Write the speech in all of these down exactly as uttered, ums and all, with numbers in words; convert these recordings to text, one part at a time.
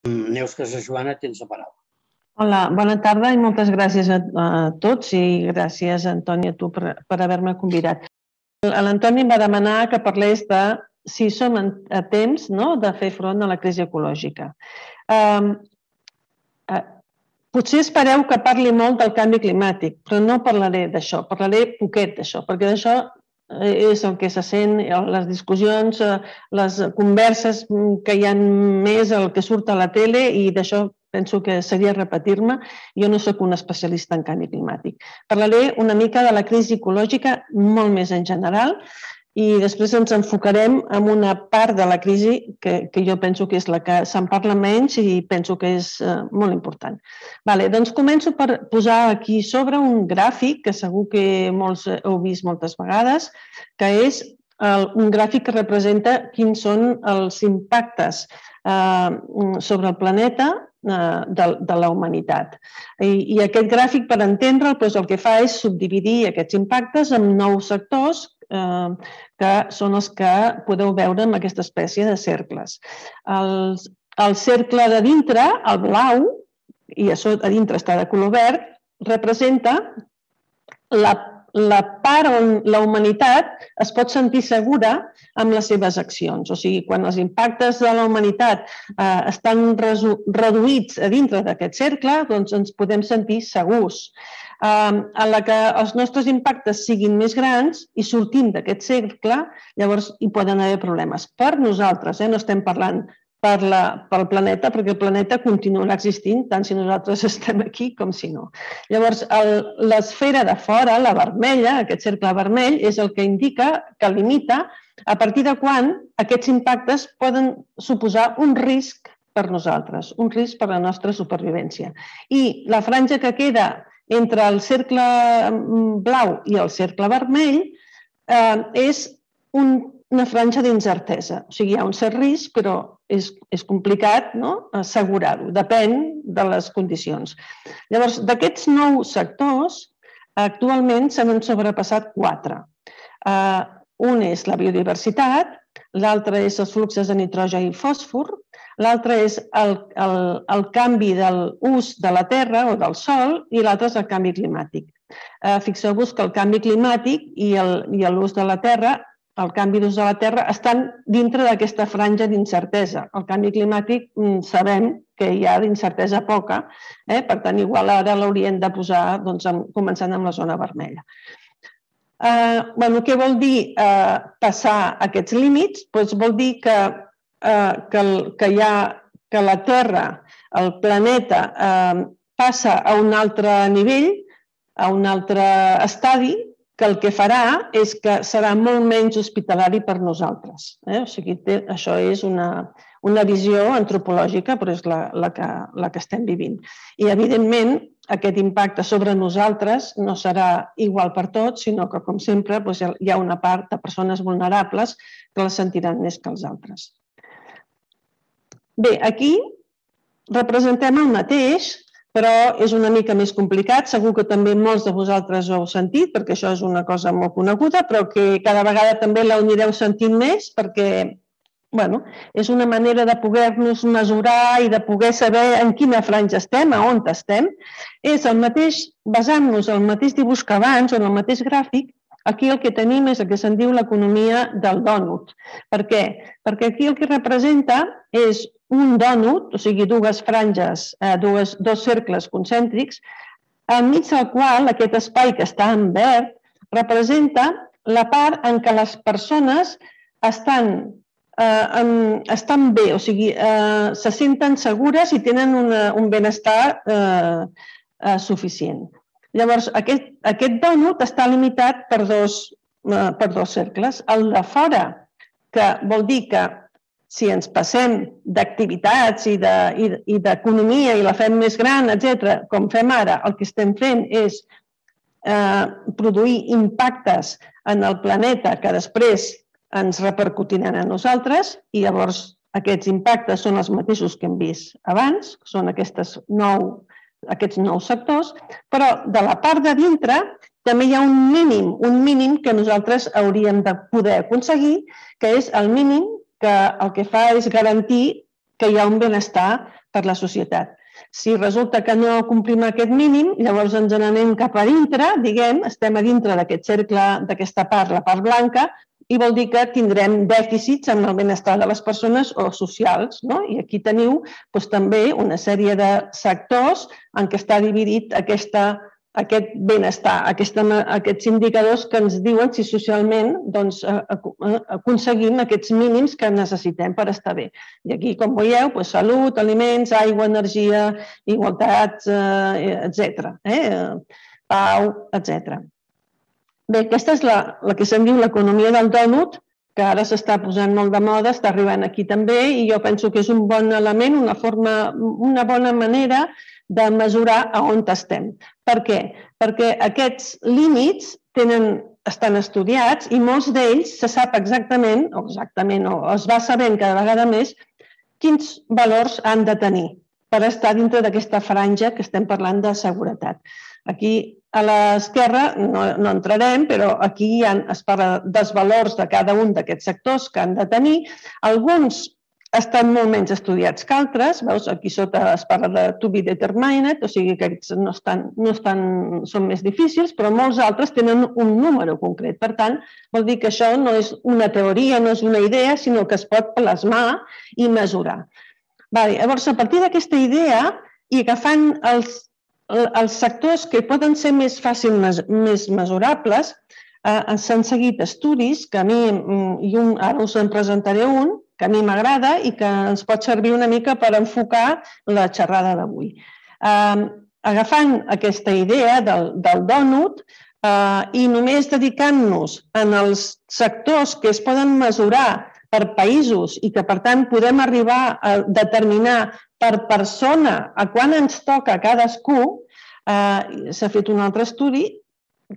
Neus Casajoana, tens la paraula. Hola, bona tarda i moltes gràcies a, a tots i gràcies, Antoni, a tu per, per haver-me convidat. L'Antoni em va demanar que parlés de si som a temps, no?, de fer front a la crisi ecològica. Um, uh, potser espereu que parli molt del canvi climàtic, però no parlaré d'això, parlaré poquet d'això, perquè d'això és el que se sent, les discussions, les converses que hi ha més, el que surt a la tele, i d'això penso que seria repetir-me. Jo no soc un especialista en canvi climàtic. Parlaré una mica de la crisi ecològica molt més en general i després ens enfocarem en una part de la crisi que, que jo penso que és la que se'n parla menys i penso que és uh, molt important. Vale, doncs començo per posar aquí sobre un gràfic que segur que molts heu vist moltes vegades, que és el, un gràfic que representa quins són els impactes uh, sobre el planeta uh, de, de la humanitat. I, i aquest gràfic, per entendre'l, doncs el que fa és subdividir aquests impactes en nou sectors Eh, que són els que podeu veure amb aquesta espècie de cercles. El, el cercle de dintre, el blau, i a, sota, a dintre està de color verd, representa la, la part on la humanitat es pot sentir segura amb les seves accions. O sigui, quan els impactes de la humanitat eh, estan resu, reduïts a dintre d'aquest cercle, doncs ens podem sentir segurs. A la que els nostres impactes siguin més grans i sortim d'aquest cercle, llavors hi poden haver problemes. Per nosaltres, eh? No estem parlant per la, pel planeta, perquè el planeta continuarà existint tant si nosaltres estem aquí com si no. Llavors, l'esfera de fora, la vermella, aquest cercle vermell, és el que indica, que limita a partir de quan aquests impactes poden suposar un risc per nosaltres, un risc per la nostra supervivència. I la franja que queda entre el cercle blau i el cercle vermell eh, és un, una franja d'incertesa. O sigui, hi ha un cert risc, però és, és complicat, no?, assegurar-ho. Depèn de les condicions. Llavors, d'aquests nou sectors, actualment se n'han sobrepassat quatre. Eh, un és la biodiversitat, l'altre és els fluxos de nitrogen i fòsfor, l'altre és el, el, el canvi de l'ús de la terra o del sòl i l'altre és el canvi climàtic. Eh, Fixeu-vos que el canvi climàtic i l'ús de la terra, el canvi d'ús de la terra, estan dintre d'aquesta franja d'incertesa. El canvi climàtic sabem que hi ha d'incertesa poca, eh? Per tant, igual ara l'haurien de posar, doncs, començant amb la zona vermella. Eh, bueno, què vol dir eh, passar aquests límits? Pues vol dir que Que, que, hi ha, que la Terra, el planeta, eh, passa a un altre nivell, a un altre estadi, que el que farà és que serà molt menys hospitalari per nosaltres. Eh? O sigui, té, això és una, una visió antropològica, però és la, la, que, la que estem vivint. I, evidentment, aquest impacte sobre nosaltres no serà igual per tots, sinó que, com sempre, doncs hi ha una part de persones vulnerables que la sentiran més que els altres. Bé, aquí representem el mateix, però és una mica més complicat. Segur que també molts de vosaltres ho heu sentit, perquè això és una cosa molt coneguda, però que cada vegada també l'anireu sentint més, perquè bueno, és una manera de poder-nos mesurar i de poder saber en quina franja estem, a on estem. És el mateix, basant-nos en el mateix dibuix que abans, o en el mateix gràfic. Aquí el que tenim és el que se'n diu l'economia del dònut. Per què? Perquè aquí el que representa és un dònut, o sigui, dues franges, dues, dos cercles concèntrics, enmig del qual aquest espai que està en verd representa la part en què les persones estan, eh, en, estan bé, o sigui, eh, se senten segures i tenen una, un benestar eh, eh, suficient. Llavors, aquest, aquest dònut està limitat per dos, eh, per dos cercles. El de fora, que vol dir que si ens passem d'activitats i d'economia i la fem més gran, etcètera, com fem ara, el que estem fent és eh, produir impactes en el planeta que després ens repercutiran a nosaltres i llavors aquests impactes són els mateixos que hem vist abans, són aquestes nou aquests nous sectors, però de la part de dintre també hi ha un mínim, un mínim que nosaltres hauríem de poder aconseguir, que és el mínim que el que fa és garantir que hi ha un benestar per la societat. Si resulta que no complim aquest mínim, llavors ens n'anem cap a dintre, diguem, estem a dintre d'aquest cercle, d'aquesta part, la part blanca, i vol dir que tindrem dèficits en el benestar de les persones o socials. I aquí teniu també una sèrie de sectors en què està dividit aquest benestar, aquests indicadors que ens diuen si socialment aconseguim aquests mínims que necessitem per estar bé. I aquí, com veieu, salut, aliments, aigua, energia, igualtat, etcètera. Pau, etcètera. Bé, aquesta és la que se'n diu l'economia del dònut, que ara s'està posant molt de moda, està arribant aquí també, i jo penso que és un bon element, una bona manera de mesurar a on estem. Per què? Perquè aquests límits estan estudiats i molts d'ells se sap exactament, o exactament, o es va sabent cada vegada més, quins valors han de tenir per estar dintre d'aquesta franja que estem parlant de seguretat. Aquí a l'esquerra no entrarem, però aquí es parla dels valors de cada un d'aquests sectors que han de tenir. Alguns estan molt menys estudiats que altres. Veus, aquí sota es parla de to be determined, o sigui que aquests no són més difícils, però molts altres tenen un número concret. Per tant, vol dir que això no és una teoria, no és una idea, sinó que es pot plasmar i mesurar. Llavors, a partir d'aquesta idea i agafant els els sectors que poden ser més fàcils, més mesurables, s'han seguit estudis que a mi, i ara us en presentaré un, que a mi m'agrada i que ens pot servir una mica per enfocar la xerrada d'avui. Agafant aquesta idea del dònut i només dedicant-nos en els sectors que es poden mesurar per països i que, per tant, podem arribar a determinar per persona a quan ens toca cadascú, s'ha fet un altre estudi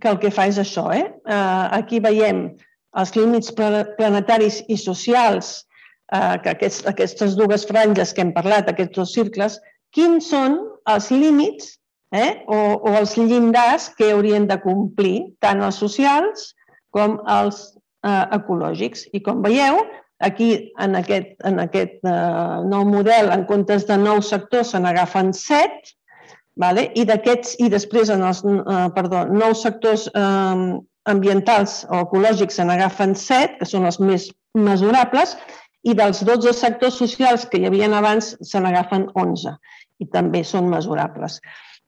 que el que fa és això. Aquí veiem els límits planetaris i socials, aquestes dues franges que hem parlat, aquests dos circles, quins són els límits o els llindars que haurien de complir tant els socials com els ecològics. I com veieu, aquí, en aquest nou model, en comptes de nou sectors, se n'agafen set, i després en els nous sectors ambientals o ecològics se n'agafen set, que són els més mesurables, i dels dotze sectors socials que hi havia abans se n'agafen onze, i també són mesurables.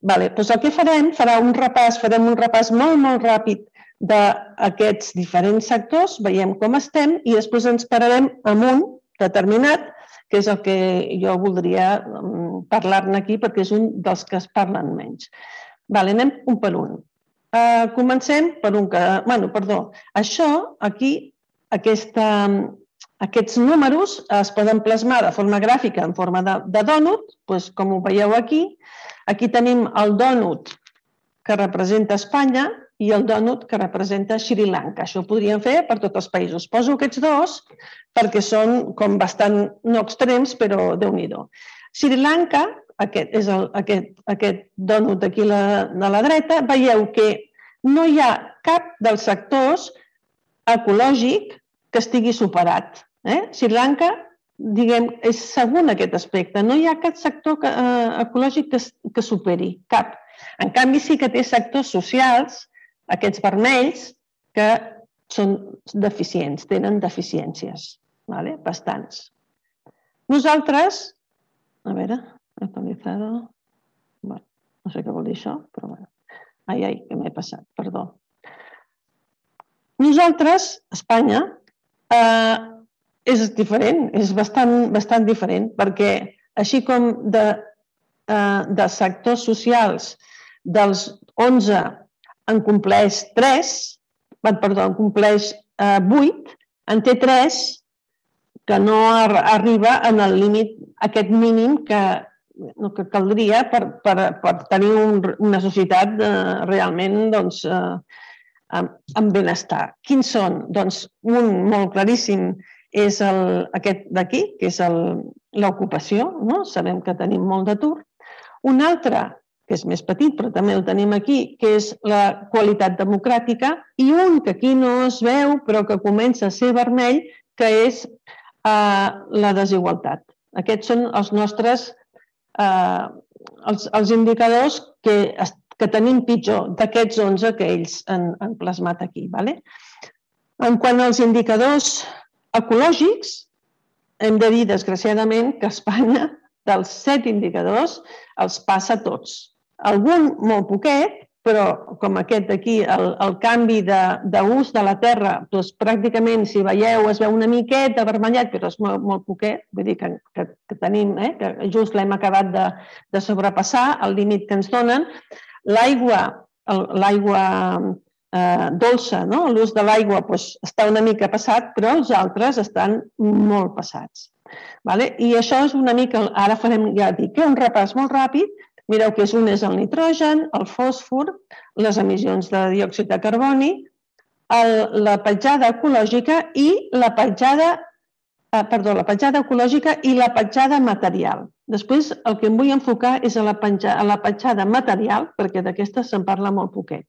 El que farem, farem un repàs, farem un repàs molt, molt ràpid d'aquests diferents sectors, veiem com estem i després ens pararem amb un determinat, que és el que jo voldria parlar-ne aquí perquè és un dels que es parlen menys. Anem un per un. Comencem per un que... Bueno, perdó. Això, aquí, aquests números es poden plasmar de forma gràfica en forma de dònut, com ho veieu aquí. Aquí tenim el dònut que representa Espanya i el dònut que representa Sri Lanka. Això ho podríem fer per tots els països. Poso aquests dos perquè són com bastant no extrems, però déu-n'hi-do. Sri Lanka, aquest és aquest dònut d'aquí a la dreta, veieu que no hi ha cap dels sectors ecològic que estigui superat. Sri Lanka, diguem, és segon aquest aspecte. No hi ha cap sector ecològic que superi, cap. En canvi, sí que té sectors socials, aquests vermells, que són deficients, tenen deficiències, bastants. Nosaltres, a veure, actualitzado, no sé què vol dir això, però bueno, ai, ai, que m'he passat, perdó. Nosaltres, Espanya, és diferent, és bastant diferent, perquè així com de sectors socials dels onze en compleix tres, perdó, en compleix vuit, en té tres que no arriba en el límit, aquest mínim que caldria per tenir una societat realment amb benestar. Quins són? Doncs un molt claríssim és aquest d'aquí, que és l'ocupació, sabem que tenim molt d'atur. Un altre, que és més petit, però també el tenim aquí, que és la qualitat democràtica, i un que aquí no es veu, però que comença a ser vermell, que és la desigualtat. Aquests són els nostres els indicadors que tenim pitjor d'aquests onze que ells han plasmat aquí. En quant als indicadors ecològics, hem de dir, desgraciadament, que Espanya, dels set indicadors, els passa tots. Algun molt poquet, però com aquest d'aquí, el canvi d'ús de la terra, pràcticament, si veieu, es veu una miqueta vermellat, però és molt poquet, vull dir que tenim, que just l'hem acabat de sobrepassar, el límit que ens donen. L'aigua, l'aigua dolça, l'ús de l'aigua està una mica passat, però els altres estan molt passats. I això és una mica, ara farem, ja dic, un repàs molt ràpid. Mireu que un és el nitrogen, el fòsfor, les emissions de diòxid de carboni, la petjada ecològica i la petjada, perdó, la petjada ecològica i la petjada material. Després el que em vull enfocar és a la petjada material, perquè d'aquesta se'n parla molt poquet.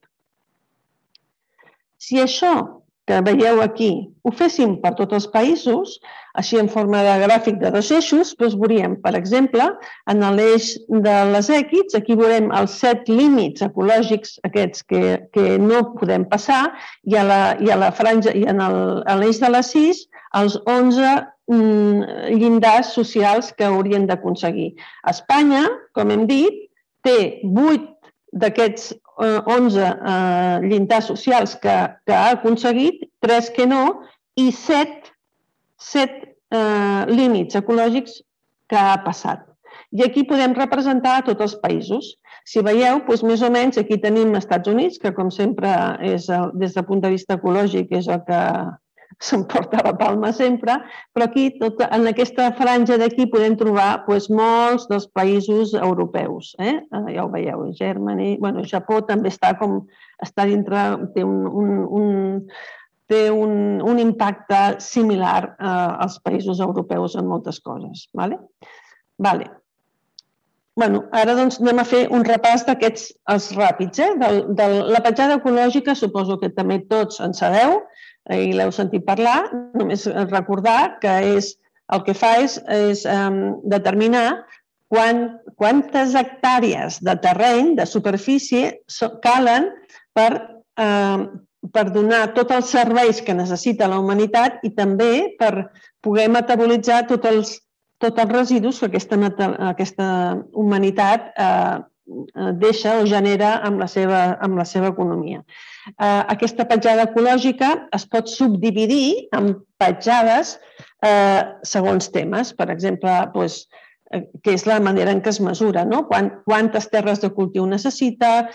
Si això que veieu aquí ho féssim per tots els països, així en forma de gràfic de dos eixos, doncs veuríem, per exemple, en l'eix de les èquids, aquí veurem els set límits ecològics aquests que no podem passar, i a la franja, i en l'eix de les sis, els onze llindars socials que haurien d'aconseguir. Espanya, com hem dit, té vuit d'aquests onze llindars socials que ha aconseguit, tres que no, i set límits ecològics que ha passat. I aquí podem representar a tots els països. Si veieu, més o menys, aquí tenim els Estats Units, que com sempre, des del punt de vista ecològic, és el que s'emporta la palma sempre, però aquí, en aquesta franja d'aquí, podem trobar molts dels països europeus. Ja ho veieu, Germany, bueno, Japó també està com, està dintre, té un té un impacte similar als països europeus en moltes coses. Ara anem a fer un repàs d'aquests ràpids. La petjada ecològica suposo que també tots en sabeu i l'heu sentit parlar. Només recordar que el que fa és determinar quantes hectàrees de terreny, de superfície, calen per per donar tots els serveis que necessita la humanitat i també per poder metabolitzar tots els residus que aquesta humanitat deixa o genera amb la seva economia. Aquesta petjada ecològica es pot subdividir en petjades segons temes. Per exemple, que és la manera en què es mesura, quantes terres de cultiu necessita,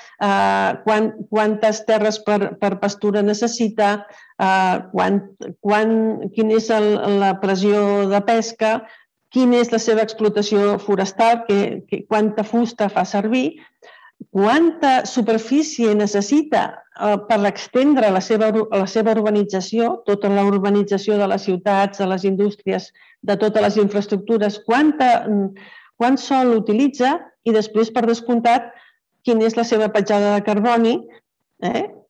quantes terres per pastura necessita, quina és la pressió de pesca, quina és la seva explotació forestal, quanta fusta fa servir, quanta superfície necessita per extendre la seva urbanització, tota la urbanització de les ciutats, de les indústries, de totes les infraestructures, quant sol utilitza i després, per descomptat, quina és la seva petjada de carboni,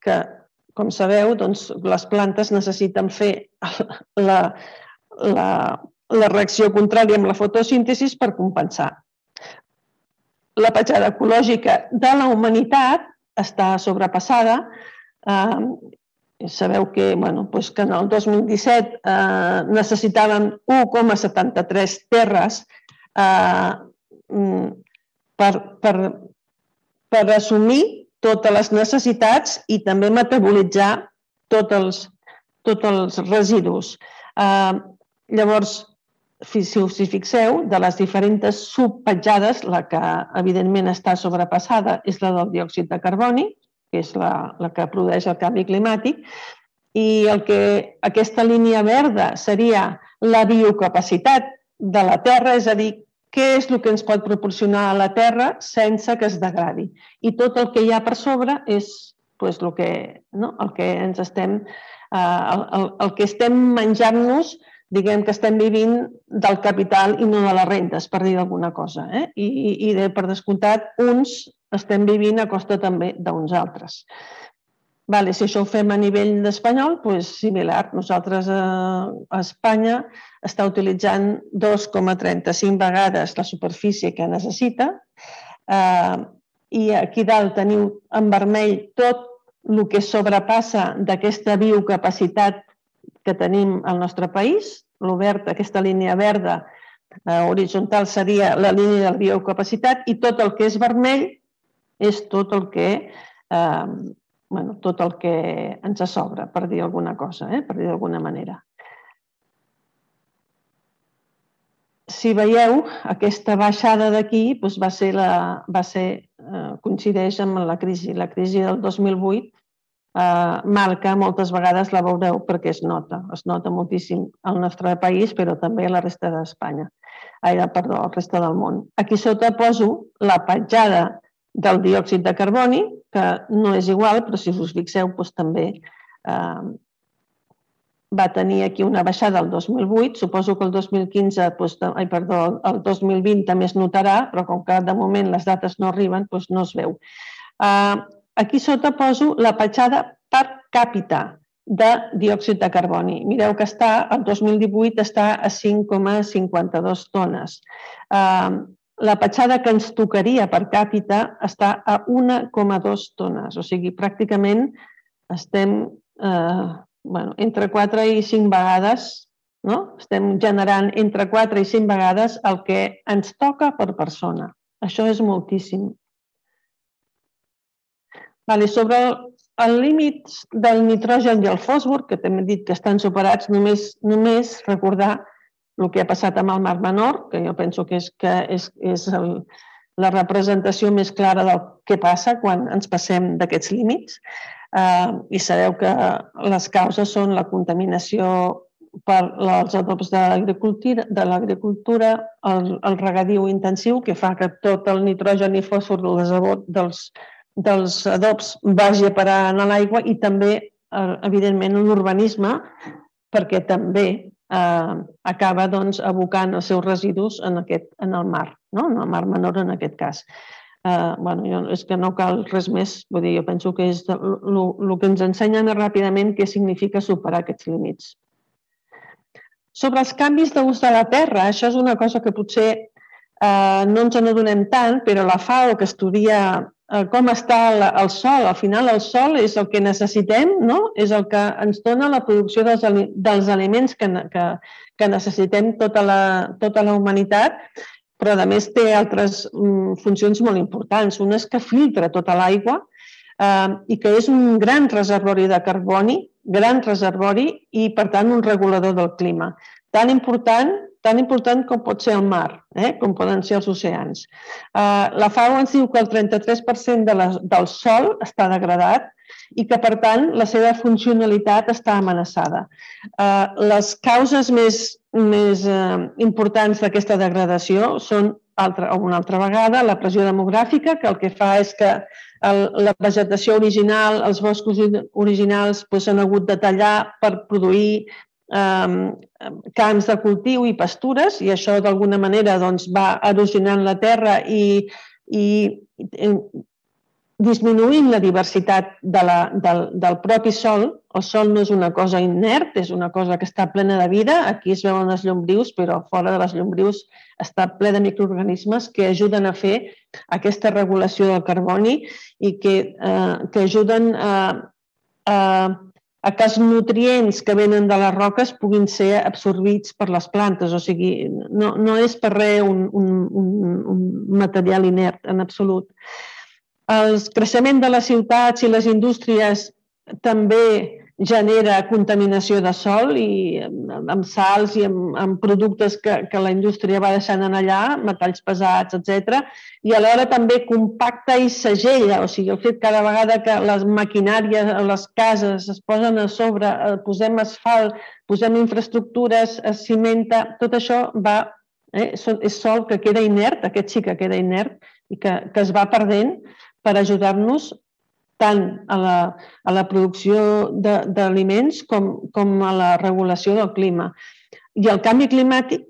que, com sabeu, les plantes necessiten fer la reacció contrària amb la fotosíntesi per compensar. La petjada ecològica de la humanitat està sobrepassada. Sabeu que en el dos mil disset necessitàvem u coma setanta-tres terres per assumir totes les necessitats i també metabolitzar tots els residus. Llavors, si us hi fixeu, de les diferents subpetjades, la que evidentment està sobrepassada és la del diòxid de carboni, que és la que produeix el canvi climàtic, i aquesta línia verda seria la biocapacitat de la Terra, és a dir, què és el que ens pot proporcionar a la Terra sense que es degradi. I tot el que hi ha per sobre és el que ens estem, el que estem menjant-nos, diguem que estem vivint del capital i no de les rentes, per dir alguna cosa. I per descomptat, uns estem vivint a costa també d'uns altres. Vale, si això ho fem a nivell espanyol, doncs similar. Nosaltres a Espanya està utilitzant dos coma trenta-cinc vegades la superfície que necessita eh, i aquí dalt teniu en vermell tot el que sobrepassa d'aquesta biocapacitat que tenim al nostre país. L'obert, aquesta línia verda eh, horitzontal seria la línia de la biocapacitat i tot el que és vermell és tot el que... Eh, Bueno, tot el que ens sobra, per dir alguna cosa, eh? per dir d'alguna manera. Si veieu, aquesta baixada d'aquí doncs va ser la, va ser, eh, coincideix amb la crisi. La crisi del dos mil vuit eh, marca, moltes vegades la veureu perquè es nota, es nota moltíssim al nostre país, però també a la resta d'Espanya, ai, perdó, a la resta del món. Aquí sota poso la petjada del diòxid de carboni, que no és igual, però si us fixeu, doncs, també eh, va tenir aquí una baixada el dos mil vuit. Suposo que el dos mil quinze, doncs, ai, perdó, el dos mil vint també es notarà, però com que de moment les dates no arriben, doncs no es veu. Eh, aquí sota poso la petjada per càpita de diòxid de carboni. Mireu que està, el dos mil divuit està a cinc coma cinquanta-dos tones. Eh, La petjada que ens tocaria per càpita està a un coma dos tones, o sigui, pràcticament estem eh, bueno, entre quatre i cinc vegades, no? Estem generant entre quatre i cinc vegades el que ens toca per persona. Això és moltíssim. Vale, sobre el límit del nitrogen i el fòsfor, que també he dit que estan superats, només, només recordar el que ha passat amb el Mar Menor, que jo penso que és, que és, és el, la representació més clara del que passa quan ens passem d'aquests límits. Eh, I sabeu que les causes són la contaminació per els adobs de l'agricultura, el, el regadiu intensiu, que fa que tot el nitrogen i fòsfor dels, dels adobs vagi a parar a l'aigua, i també, evidentment, l'urbanisme, perquè també Eh, acaba doncs, abocant els seus residus en, aquest, en el mar, no? En el Mar Menor en aquest cas. Eh, bueno, jo, és que no cal res més, vull dir, jo penso que és el que ens ensenyen ràpidament què significa superar aquests límits. Sobre els canvis d'ús de la terra, això és una cosa que potser eh, no ens n'adonem tant, però la FAO, que estudia com està el sol, al final el sol és el que necessitem, no? És el que ens dona la producció dels, dels aliments que, que, que necessitem tota la, tota la humanitat, però a més té altres mm, funcions molt importants. Una és que filtra tota l'aigua eh, i que és un gran reservori de carboni, gran reservori i, per tant, un regulador del clima. Tan important tan important com pot ser el mar, eh? Com poden ser els oceans. Uh, la FAO ens diu que el trenta-tres per cent de la, del sòl està degradat i que, per tant, la seva funcionalitat està amenaçada. Uh, les causes més, més uh, importants d'aquesta degradació són, altra, una altra vegada, la pressió demogràfica, que el que fa és que el, la vegetació original, els boscos originals doncs, s'han hagut de tallar per produir camps de cultiu i pastures, i això d'alguna manera doncs, va erosionant la terra i, i, i disminuint la diversitat de la, del, del propi sòl. El sòl no és una cosa inert, és una cosa que està plena de vida. Aquí es veuen les llombrius, però fora de les llombrius està ple de microorganismes que ajuden a fer aquesta regulació del carboni i que, eh, que ajuden a, a a que els nutrients que venen de les roques puguin ser absorbits per les plantes. O sigui, no, no és per res un, un, un material inert, en absolut. El creixement de les ciutats i les indústries també genera contaminació de sòl i amb sals i amb, amb productes que, que la indústria va deixant en allà, metalls pesats, etcètera. I alhora també compacta i segella, o sigui, el fet cada vegada que les maquinàries a les cases es posen a sobre, posem asfalt, posem infraestructures, es cimenta, tot això va, eh, és sòl que queda inert, aquest sí que queda inert i que, que es va perdent per ajudar-nos tant a la, a la producció d'aliments com, com a la regulació del clima. I el canvi climàtic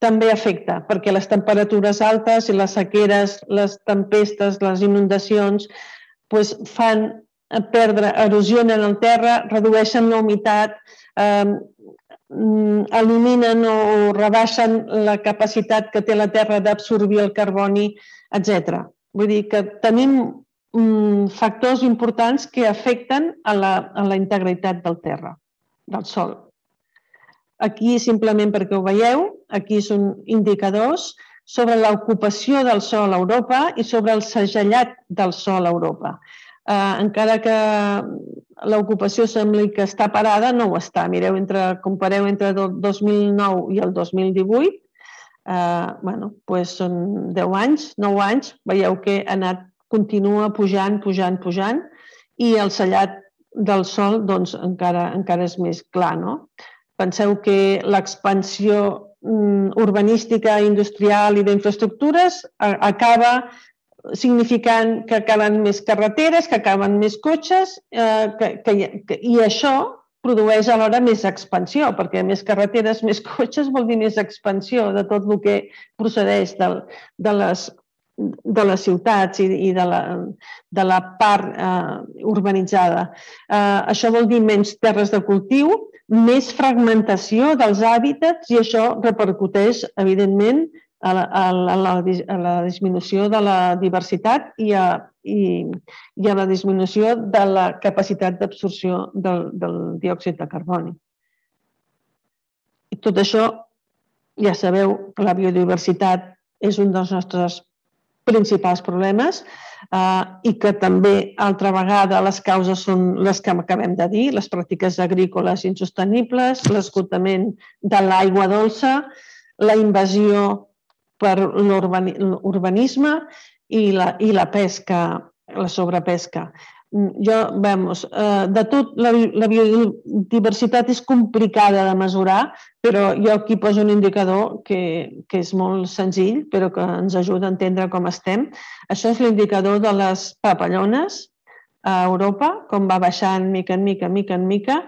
també afecta, perquè les temperatures altes i les sequeres, les tempestes, les inundacions, doncs fan perdre, erosionen el terra, redueixen la humitat, eh, eliminen o rebaixen la capacitat que té la terra d'absorbir el carboni, etcètera. Vull dir que tenim factors importants que afecten a la, a la integritat del terra, del sòl. Aquí, simplement perquè ho veieu, aquí són indicadors sobre l'ocupació del sòl a Europa i sobre el segellat del sòl a Europa. Eh, encara que l'ocupació sembli que està parada, no ho està. Mireu, entre, compareu entre el dos mil nou i el dos mil divuit, eh, bueno, doncs són deu anys, nou anys, veieu que ha anat, continua pujant, pujant, pujant, i el sellat del sòl doncs, encara, encara és més clar, no? Penseu que l'expansió urbanística, industrial i d'infraestructures acaba significant que calen més carreteres, que calen més cotxes, eh, que, que, i això produeix alhora més expansió, perquè més carreteres, més cotxes vol dir més expansió de tot el que procedeix de, de, les, de les ciutats i, i de, la, de la part eh, urbanitzada. Eh, això vol dir menys terres de cultiu, més fragmentació dels hàbitats i això repercuteix, evidentment, a la, a la, a la disminució de la diversitat i a, i, i a la disminució de la capacitat d'absorció del, del diòxid de carboni. I tot això, ja sabeu que la biodiversitat és un dels nostres principals problemes eh, i que també, altra vegada, les causes són les que acabem de dir, les pràctiques agrícoles insostenibles, l'esgotament de l'aigua dolça, la invasió per l'urbanisme i la, i la pesca, la sobrepesca. Jo, vamos, de tot, la, la biodiversitat és complicada de mesurar, però jo aquí poso un indicador que, que és molt senzill, però que ens ajuda a entendre com estem. Això és l'indicador de les papallones a Europa, com va baixant mica en mica, mica en mica,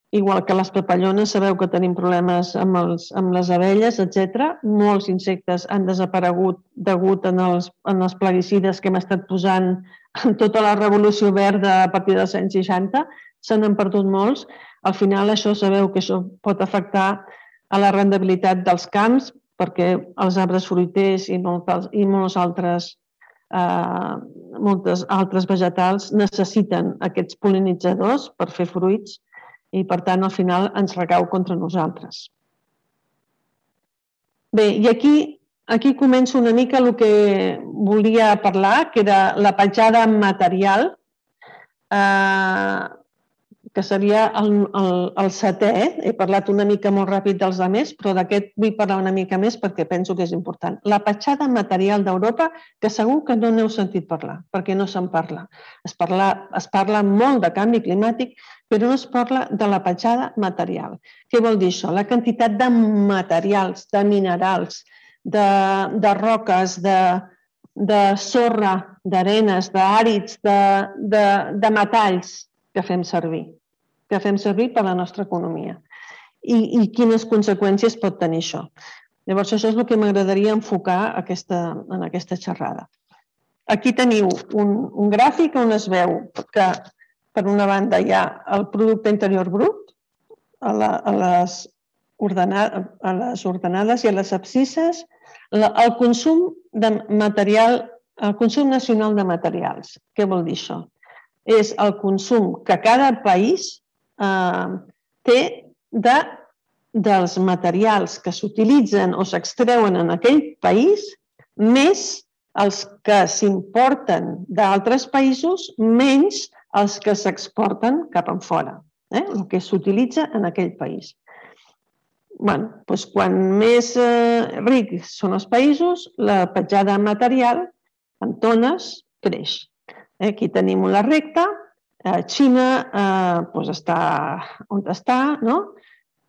igual que les papallones, sabeu que tenim problemes amb, els, amb les abelles, etcètera. Molts insectes han desaparegut degut en els, en els plaguicides que hem estat posant en tota la revolució verda a partir dels anys seixanta. Se n'han perdut molts. Al final, això sabeu que això pot afectar a la rendibilitat dels camps, perquè els arbres fruiters i molts, i molts altres, eh, moltes altres vegetals necessiten aquests pol·linitzadors per fer fruits i, per tant, al final ens recau contra nosaltres. Bé, i aquí, aquí començo una mica el que volia parlar, que era la petjada material, eh, que seria el, el, el setè. He parlat una mica molt ràpid dels altres, però d'aquest vull parlar una mica més perquè penso que és important. La petjada material d'Europa, que segur que no n'heu sentit parlar, perquè no se'n parla. Es parla, es parla molt de canvi climàtic, però no es parla de la petjada material. Què vol dir això? La quantitat de materials, de minerals, de, de roques, de, de sorra, d'arenes, d'àrids, de, de, de metalls que fem servir, que fem servir per a la nostra economia. I, i quines conseqüències pot tenir això. Llavors, això és el que m'agradaria enfocar aquesta, en aquesta xerrada. Aquí teniu un, un gràfic on es veu que per una banda hi ha el producte interior brut a, la, a, les, ordenades, a les ordenades i a les abscisses, la, el consum de material, el consum nacional de materials. Què vol dir això? És el consum que cada país eh, té de, dels materials que s'utilitzen o s'extreuen en aquell país, més els que s'importen d'altres països, menys els que s'exporten cap enfora, eh? El que s'utilitza en aquell país. Bé, doncs quan més eh, rics són els països, la petjada material en tones creix. Aquí tenim la recta, Xina eh, doncs està on està, no?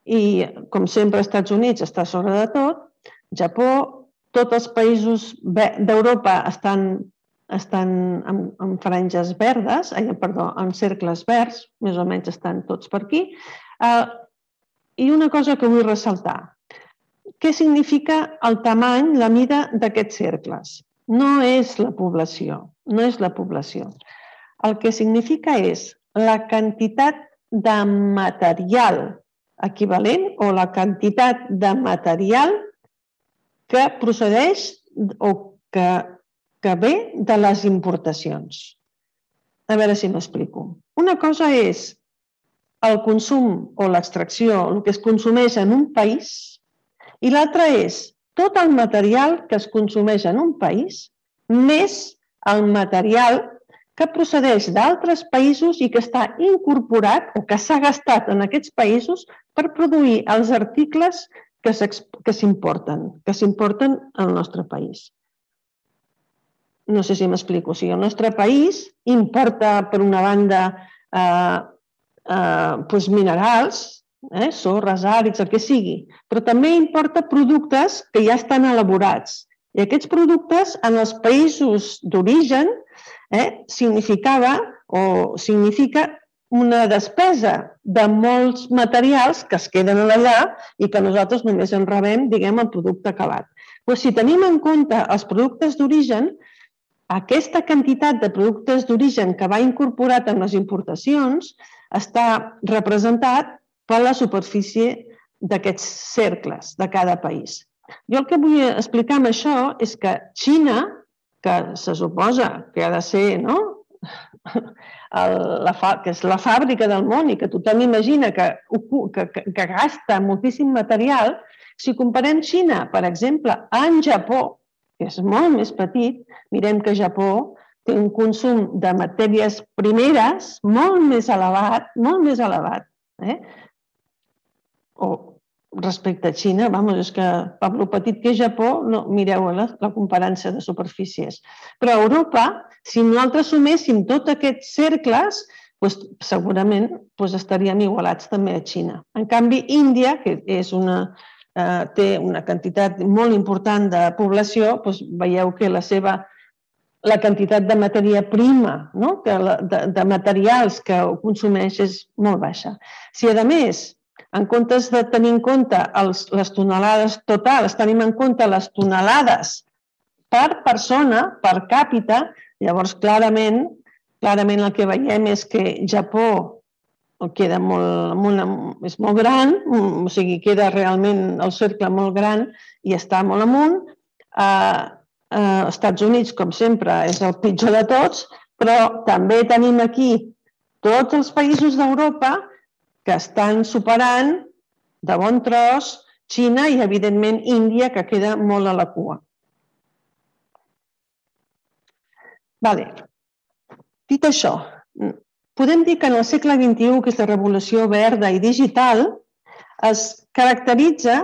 I com sempre Estats Units està sobre de tot, Japó, tots els països d'Europa estan estan en, en franges verdes, eh, perdó, en cercles verds, més o menys estan tots per aquí. Eh, I una cosa que vull ressaltar. Què significa el tamany, la mida d'aquests cercles? No és la població, no és la població. el que significa és la quantitat de material equivalent o la quantitat de material que procedeix o que, que ve de les importacions. A veure si m'explico. Una cosa és el consum o l'extracció, el que es consumeix en un país, i l'altra és tot el material que es consumeix en un país, més el material que procedeix d'altres països i que està incorporat o que s'ha gastat en aquests països per produir els articles que s'importen, que s'importen al nostre país. No sé si m'explico. O sigui, el nostre país importa, per una banda, eh, eh, doncs minerals, eh, sorres, àrids, el que sigui, però també importa productes que ja estan elaborats. I aquests productes, en els països d'origen, eh, significava o significa una despesa de molts materials que es queden allà i que nosaltres només en rebem, diguem, el producte acabat. Però si tenim en compte els productes d'origen, aquesta quantitat de productes d'origen que va incorporat en les importacions està representat per la superfície d'aquests cercles de cada país. Jo el que vull explicar amb això és que Xina, que se suposa que ha de ser, no?, que és la fàbrica del món i que tothom imagina que, que, que gasta moltíssim material, si comparem Xina, per exemple, amb Japó, que és molt més petit, mirem que Japó té un consum de matèries primeres molt més elevat, molt més elevat. Eh? O respecte a Xina, vamos, és que per lo petit que és Japó, no, mireu la, la comparança de superfícies. Però a Europa, si nosaltres suméssim tots aquests cercles, doncs, segurament doncs, estaríem igualats també a Xina. En canvi, Índia, que és una, eh, té una quantitat molt important de població, doncs, veieu que la seva la quantitat de matèria prima, no? que la, de, de materials que consumeix és molt baixa. Si, a més, en comptes de tenir en compte els, les tonelades totals, tenim en compte les tonelades per persona, per càpita, llavors clarament, clarament el que veiem és que Japó queda molt, molt, és molt gran, o sigui, queda realment el cercle molt gran i està molt amunt. Eh, eh, Estats Units, com sempre, és el pitjor de tots, però també tenim aquí tots els països d'Europa que estan superant de bon tros Xina i, evidentment, Índia, que queda molt a la cua. Vale. Dit això, podem dir que en el segle vint-i-u, que és la revolució verda i digital, es caracteritza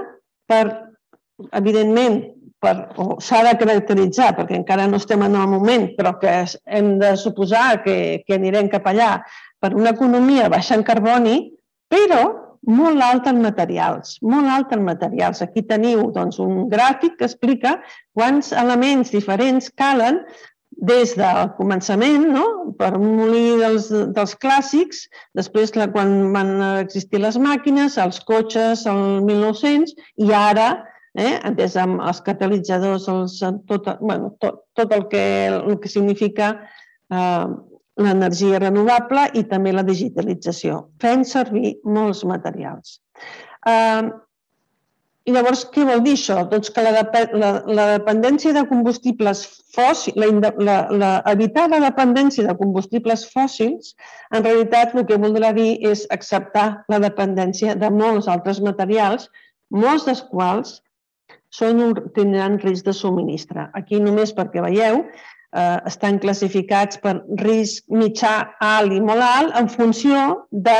per, evidentment, s'ha de caracteritzar, perquè encara no estem en el moment, però que hem de suposar que, que anirem cap allà, per una economia baixa en carboni, però molt alta en materials, molt alta en materials. Aquí teniu doncs, un gràfic que explica quants elements diferents calen des del començament, no? Per un molí dels, dels clàssics, després quan van existir les màquines, els cotxes, el mil nou-cents, i ara, eh, des dels catalitzadors, els, tot, bueno, tot, tot el, que, el que significa eh, l'energia renovable i també la digitalització, fent servir molts materials. Eh, I llavors, què vol dir això? Doncs que la, la, la dependència de combustibles fòssils, la, la, la, evitar la dependència de combustibles fòssils, en realitat el que voldrà dir és acceptar la dependència de molts altres materials, molts dels quals són, tindran risc de subministre. Aquí només perquè veieu, eh, estan classificats per risc mitjà, alt i molt alt en funció de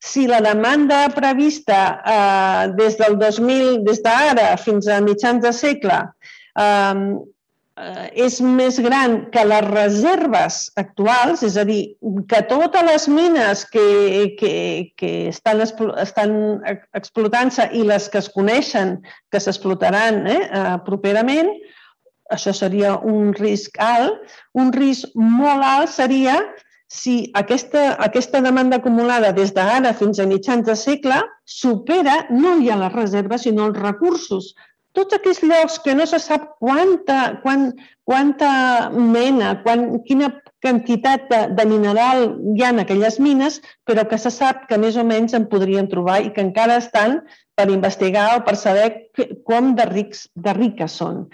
si la demanda prevista eh, des del dos mil, des d'ara fins a mitjans de segle, eh, és més gran que les reserves actuals, és a dir, que totes les mines que, que, que estan, estan explotant-se i les que es coneixen que s'explotaran eh, properament, això seria un risc alt. Un risc molt alt seria si aquesta, aquesta demanda acumulada des d'ara fins a mitjans de segle supera no ja les reserves, sinó els recursos tots aquells llocs que no se sap quanta, quant, quanta mena, quan, quina quantitat de, de mineral hi ha en aquelles mines, però que se sap que més o menys en podríem trobar i que encara estan per investigar o per saber com de, rics, de riques són.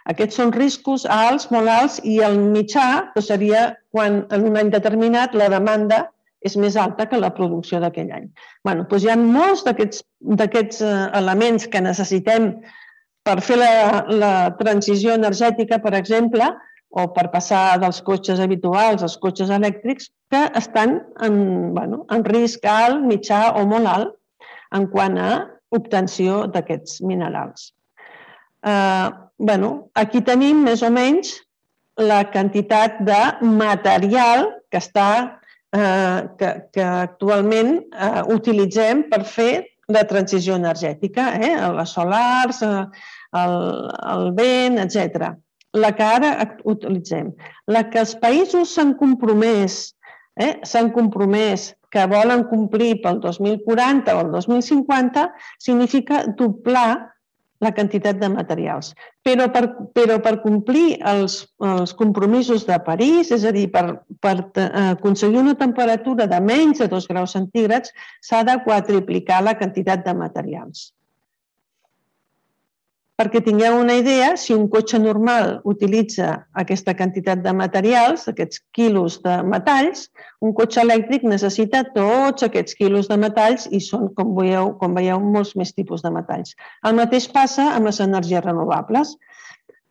Aquests són riscos alts, molt alts, i el mitjà seria quan en un any determinat la demanda és més alta que la producció d'aquell any. Bé, doncs hi ha molts d'aquests elements que necessitem per fer la, la transició energètica, per exemple, o per passar dels cotxes habituals als cotxes elèctrics, que estan en, bueno, en risc alt, mitjà o molt alt en quant a obtenció d'aquests minerals. Eh, bueno, aquí tenim més o menys la quantitat de material que, està, eh, que, que actualment eh, utilitzem per fer la transició energètica, eh? Les solars, el, el vent, etcètera. La que ara utilitzem. La que els països s'han compromès, eh? s'han compromès que volen complir pel dos mil quaranta o el dos mil cinquanta, significa doblar la quantitat de materials. Però per, però per complir els, els compromisos de París, és a dir, per, per aconseguir una temperatura de menys de dos graus centígrads, s'ha de quadruplicar la quantitat de materials. Perquè tingueu una idea, si un cotxe normal utilitza aquesta quantitat de materials, aquests quilos de metalls, un cotxe elèctric necessita tots aquests quilos de metalls i són, com veieu, com veieu, molts més tipus de metalls. El mateix passa amb les energies renovables.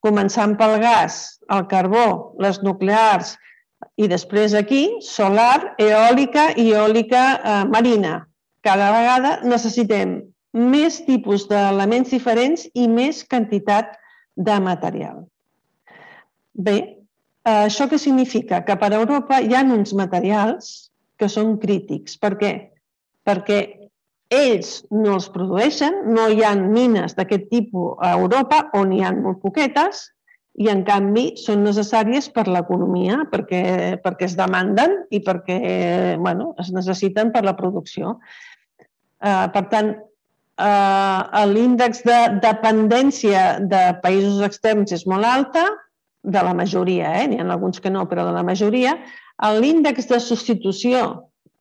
Començant pel gas, el carbó, les nuclears i després aquí, solar, eòlica i eòlica eh, marina. Cada vegada necessitem més tipus d'elements diferents i més quantitat de material. Bé, això què significa? Que per Europa hi ha uns materials que són crítics. Per què? Perquè ells no els produeixen, no hi ha mines d'aquest tipus a Europa, on hi ha molt poquetes, i en canvi són necessàries per l'economia, perquè, perquè es demanden i perquè bueno, es necessiten per la producció. Uh, per tant, Uh, l'índex de dependència de països externs és molt alta, de la majoria, eh? N'hi ha alguns que no, però de la majoria. L'índex de substitució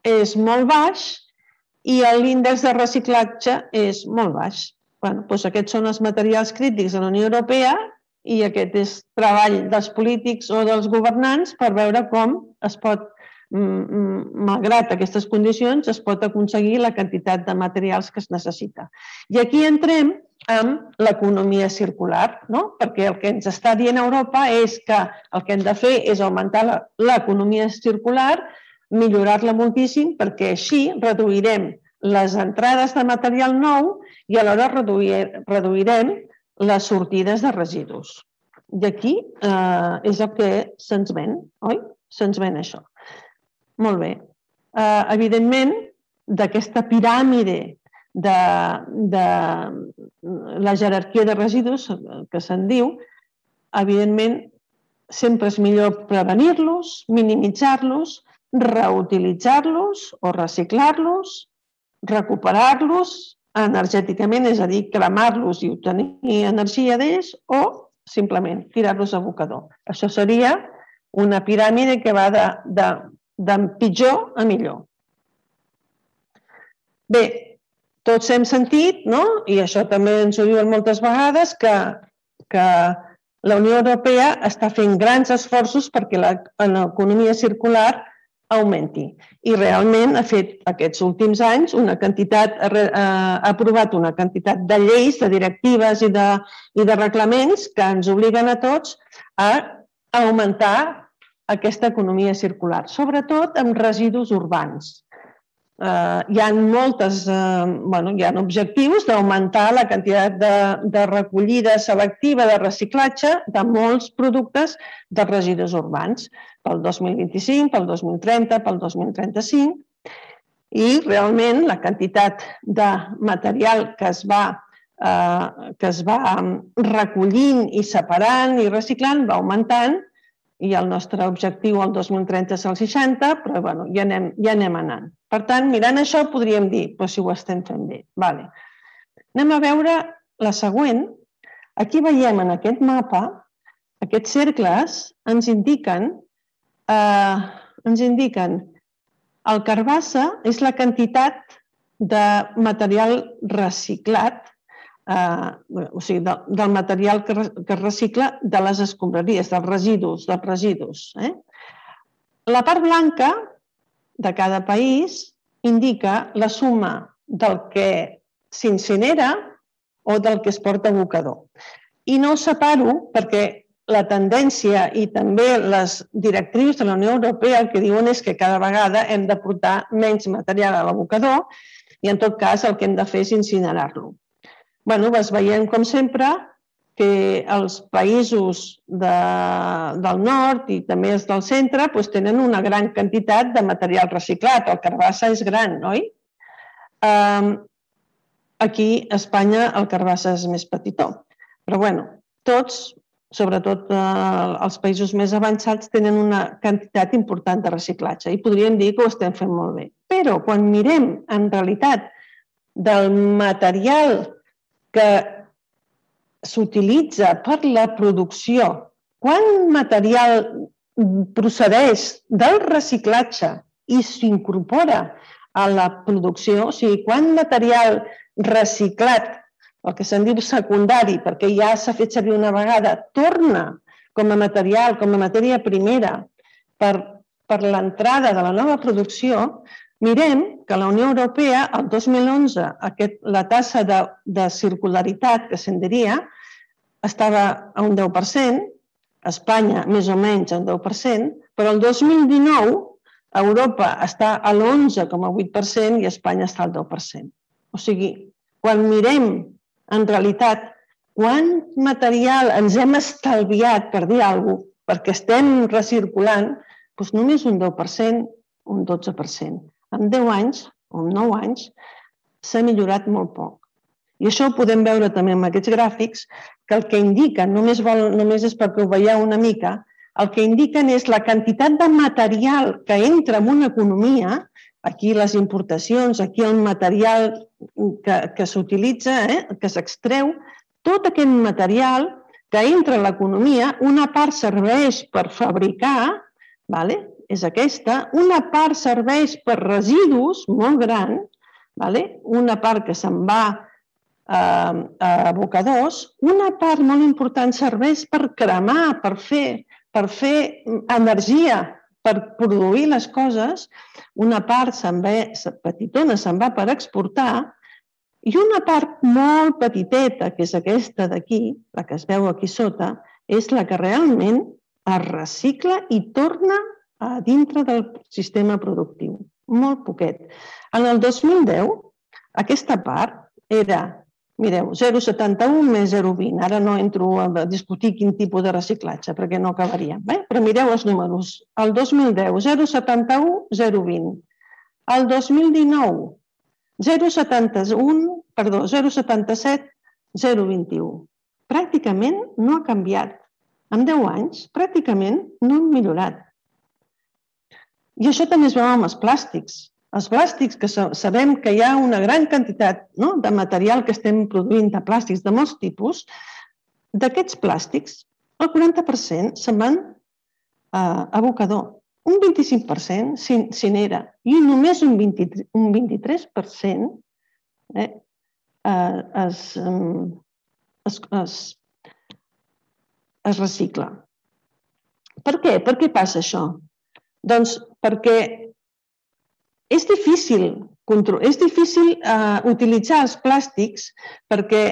és molt baix i l'índex de reciclatge és molt baix. Bueno, doncs aquests són els materials crítics de la Unió Europea i aquest és treball dels polítics o dels governants per veure com es pot, malgrat aquestes condicions, es pot aconseguir la quantitat de materials que es necessita. I aquí entrem amb l'economia circular, no? Perquè el que ens està dient Europa és que el que hem de fer és augmentar l'economia circular, millorar-la moltíssim, perquè així reduirem les entrades de material nou i alhora reduirem les sortides de residus. I aquí eh, és el que se'ns ven, oi? Se'ns ven això. Molt bé. Uh, evidentment, d'aquesta piràmide de, de la jerarquia de residus que se'n diu, evidentment, sempre és millor prevenir-los, minimitzar-los, reutilitzar-los o reciclar-los, recuperar-los energèticament, és a dir, cremar-los i obtenir energia d'ells o simplement tirar-los a abocador. Això seria una piràmide que va de, de de pitjor a millor. Bé, tots hem sentit, no? I això també ens ho diuen moltes vegades, que, que la Unió Europea està fent grans esforços perquè l'economia circular augmenti. I realment ha fet aquests últims anys una quantitat, ha aprovat una quantitat de lleis, de directives i de, i de reglaments que ens obliguen a tots a augmentar aquesta economia circular, sobretot amb residus urbans. Eh, hi ha moltes, eh, bueno, hi ha objectius d'augmentar la quantitat de, de recollida selectiva de reciclatge de molts productes de residus urbans pel dos mil vint-i-cinc, pel dos mil trenta, pel dos mil trenta-cinc, i realment la quantitat de material que es va, eh, que es va recollint i separant i reciclant va augmentant, i el nostre objectiu al dos mil trenta és el seixanta, però bueno, ja, anem, ja anem anant. Per tant, mirant això podríem dir, doncs si ho estem fent bé. Vale. Anem a veure la següent. Aquí veiem en aquest mapa, aquests cercles ens indiquen, eh, ens indiquen el carbassa és la quantitat de material reciclat, eh, o sigui, de, del material que, que es recicla de les escombraries, dels residus, dels residus. Eh? La part blanca de cada país indica la suma del que s'incinera o del que es porta a abocador. I no ho separo perquè la tendència i també les directrius de la Unió Europea el que diuen és que cada vegada hem de portar menys material a l'abocador i en tot cas el que hem de fer és incinerar-lo. Bé, es veiem com sempre que els països de, del nord i també els del centre doncs, tenen una gran quantitat de material reciclat. El carbassa és gran, oi? Um, aquí a Espanya el carbassa és més petitó. Però bueno, tots, sobretot eh, els països més avançats, tenen una quantitat important de reciclatge i podríem dir que ho estem fent molt bé. Però quan mirem en realitat del material que s'utilitza per la producció, quan material procedeix del reciclatge i s'incorpora a la producció, o sigui, quan material reciclat, el que se'n diu secundari, perquè ja s'ha fet servir una vegada, torna com a material, com a matèria primera per, per l'entrada de la nova producció, mirem que la Unió Europea, el dos mil onze, aquest, la tassa de, de circularitat, que se'n diria, estava a un deu per cent, a Espanya més o menys a un deu per cent, però el dos mil dinou a Europa està a l'onze coma vuit per cent i a Espanya està al deu per cent. O sigui, quan mirem en realitat quant material ens hem estalviat, per dir alguna cosa, perquè estem recirculant, doncs només un deu per cent, un dotze per cent. En deu anys o en nou anys s'ha millorat molt poc. I això ho podem veure també amb aquests gràfics, que el que indiquen, només, vol, només és perquè ho veieu una mica, el que indiquen és la quantitat de material que entra en una economia, aquí les importacions, aquí el material que, que s'utilitza, eh, que s'extreu, tot aquest material que entra a l'economia, una part serveix per fabricar, vale? És aquesta, una part serveix per residus molt gran, vale? Una part que se'n va a, a abocadors, una part molt important serveix per cremar, per fer, per fer energia, per produir les coses, una part se'n va, petitona se'n va per exportar i una part molt petiteta, que és aquesta d'aquí, la que es veu aquí sota, és la que realment es recicla i torna a dintre del sistema productiu. Molt poquet. En el dos mil deu, aquesta part era, mireu, zero coma setanta-u més zero coma vint. Ara no entro a discutir quin tipus de reciclatge, perquè no acabaríem. Eh? Però mireu els números. El dos mil deu, zero coma setanta-u, zero coma vint. El dos mil dinou, zero coma setanta-u, perdó, zero coma setanta-set, zero coma vint-i-u. Pràcticament no ha canviat. En deu anys, pràcticament no han millorat. I això també es veu amb els plàstics. Els plàstics, que sabem que hi ha una gran quantitat de material que estem produint de plàstics de molts tipus, d'aquests plàstics, el quaranta per cent se'n van a abocador, un vint-i-cinc per cent s'incinera i només un vint-i-tres per cent es, es, es, es recicla. Per què? Per què passa això? Doncs perquè és difícil, és difícil uh, utilitzar els plàstics perquè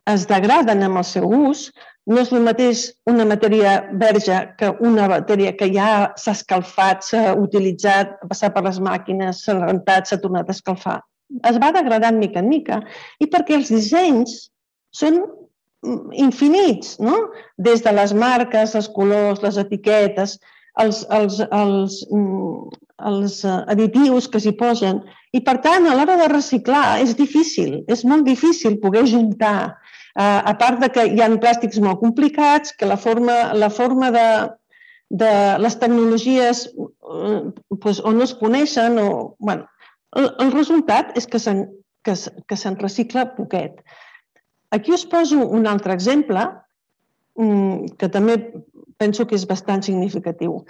es degraden amb el seu ús. No és el mateix una matèria verge que una matèria que ja s'ha escalfat, s'ha utilitzat, ha passat per les màquines, s'ha rentat, s'ha tornat a escalfar. Es va degradant mica en mica i perquè els dissenys són infinits, no? Des de les marques, els colors, les etiquetes, els, els, els, els additius que s'hi posen. I, per tant, a l'hora de reciclar és difícil, és molt difícil poder juntar. A part que hi ha plàstics molt complicats, que la forma, la forma de, de les tecnologies doncs, o no es coneixen, o, bueno, el, el resultat és que se'n que, que se'n recicla poquet. Aquí us poso un altre exemple que també penso que és bastant significatiu.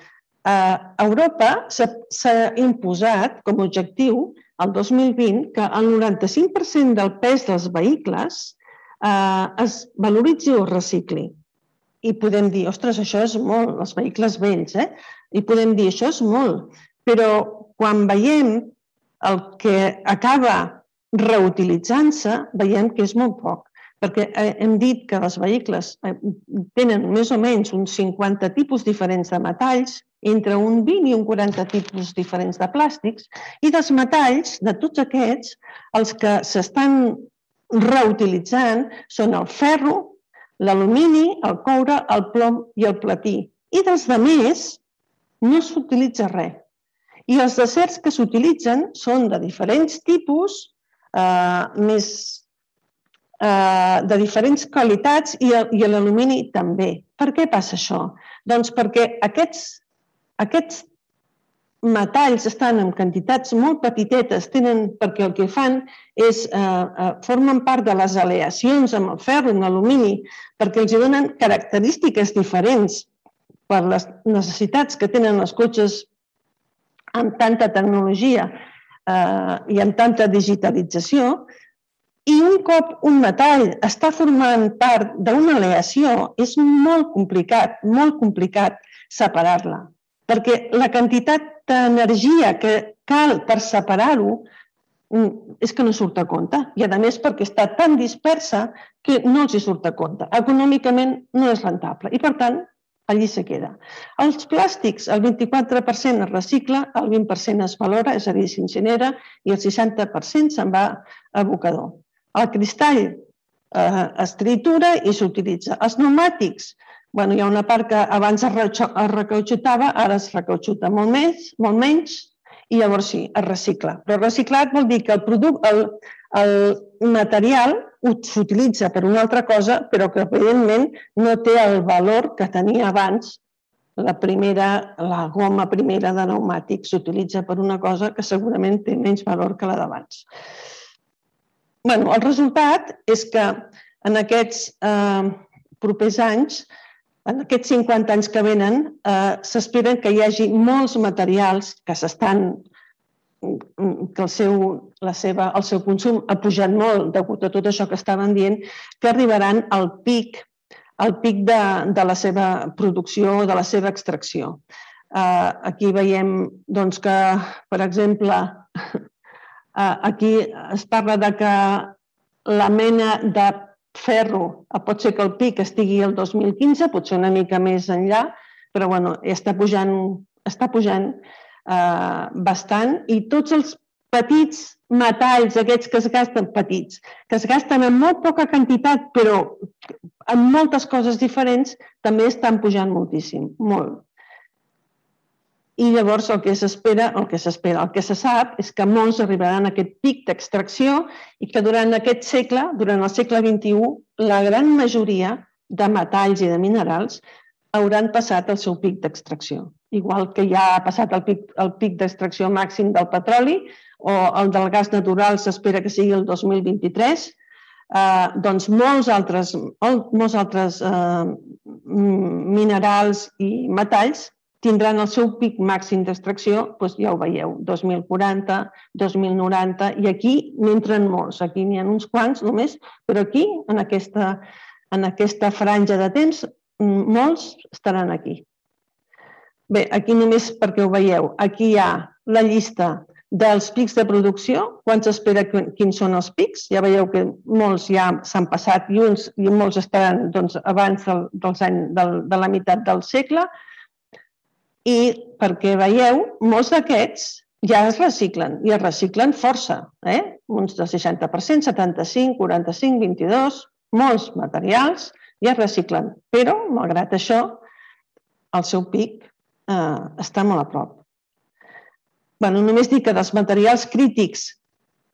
A Europa s'ha imposat com a objectiu el dos mil vint que el noranta-cinc per cent del pes dels vehicles es valoritzi o es recicli. I podem dir, ostres, això és molt, els vehicles vells, eh? I podem dir, això és molt. Però quan veiem el que acaba reutilitzant-se, veiem que és molt poc. Perquè hem dit que els vehicles tenen més o menys uns cinquanta tipus diferents de metalls, entre un vint i un quaranta tipus diferents de plàstics, i dels metalls, de tots aquests, els que s'estan reutilitzant són el ferro, l'alumini, el coure, el plom i el platí. I dels altres no s'utilitza res. I els acers que s'utilitzen són de diferents tipus, més de diferents qualitats i l'alumini també. Per què passa això? Doncs perquè aquests metalls estan en quantitats molt petitetes, perquè el que fan és formen part de les aleacions amb el ferro, amb l'alumini, perquè els donen característiques diferents per les necessitats que tenen els cotxes amb tanta tecnologia i amb tanta digitalització. I un cop un metall està formant part d'una aleació, és molt complicat, molt complicat separar-la, perquè la quantitat d'energia que cal per separar-ho és que no surt a compte. I a més perquè està tan dispersa que no els surt a compte. Econòmicament no és rentable i per tant allí se queda. Els plàstics, el vint-i-quatre per cent es recicla, el vint per cent es valora, és a dir, s'incinera, i el seixanta per cent se'n va a abocador. El cristall es tritura i s'utilitza. Els pneumàtics, hi ha una part que abans es recautxutava, ara es recautxuta molt menys i llavors sí, es recicla. Però reciclat vol dir que el material s'utilitza per una altra cosa, però que evidentment no té el valor que tenia abans. La goma primera de pneumàtic s'utilitza per una cosa que segurament té menys valor que la d'abans. El resultat és que en aquests propers anys, en aquests cinquanta anys que venen, s'espera que hi hagi molts materials que s'estan, que el seu consum ha pujat molt degut a tot això que estaven dient, que arribaran al pic de la seva producció, de la seva extracció. Aquí veiem que, per exemple, aquí es parla que la mena de ferro, pot ser que el pic estigui el dos mil quinze, potser una mica més enllà, però està pujant bastant i tots els petits metalls aquests que es gasten, petits, que es gasten en molt poca quantitat però en moltes coses diferents, també estan pujant moltíssim, molt. I llavors el que s'espera, el que s'espera, el que se sap és que molts arribaran a aquest pic d'extracció i que durant aquest segle, durant el segle vint-i-u, la gran majoria de metalls i de minerals hauran passat el seu pic d'extracció. Igual que ja ha passat el pic d'extracció màxim del petroli o el del gas natural s'espera que sigui el dos mil vint-i-tres, doncs molts altres minerals i metalls tindran el seu pic màxim d'extracció, ja ho veieu, dos mil quaranta, dos mil noranta, i aquí n'entren molts. Aquí n'hi ha uns quants només, però aquí, en aquesta franja de temps, molts estaran aquí. Bé, aquí només perquè ho veieu, aquí hi ha la llista dels pics de producció, quan s'espera quins són els pics. Ja veieu que molts ja s'han passat i molts estaran abans de la meitat del segle. I perquè veieu, molts d'aquests ja es reciclen, i es reciclen força, uns del seixanta per cent, setanta-cinc, quaranta-cinc, vint-i-dos, molts materials ja es reciclen, però, malgrat això, el seu pic està molt a prop. Només dic que dels materials crítics,